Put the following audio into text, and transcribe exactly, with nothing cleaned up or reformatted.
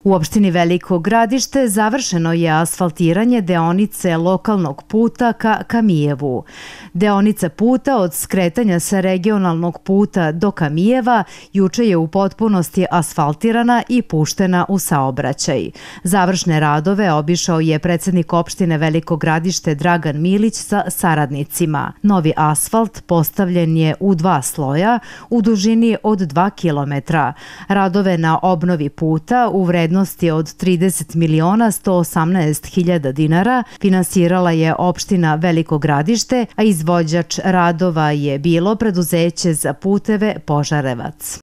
U opštini Veliko Gradište završeno je asfaltiranje deonice lokalnog puta ka Kamijevu. Deonica puta od skretanja sa regionalnog puta do Kamijeva juče je u potpunosti asfaltirana i puštena u saobraćaj. Završne radove obišao je predsednik opštine Veliko Gradište Dragan Milić sa saradnicima. Novi asfalt postavljen je u dva sloja u dužini od dva kilometra. Radove na obnovi puta u vrednosti od trideset miliona sto osamnaest hiljada dinara finansirala je opština Veliko Gradište, a izvođač radova je bilo preduzeće za puteve Požarevac.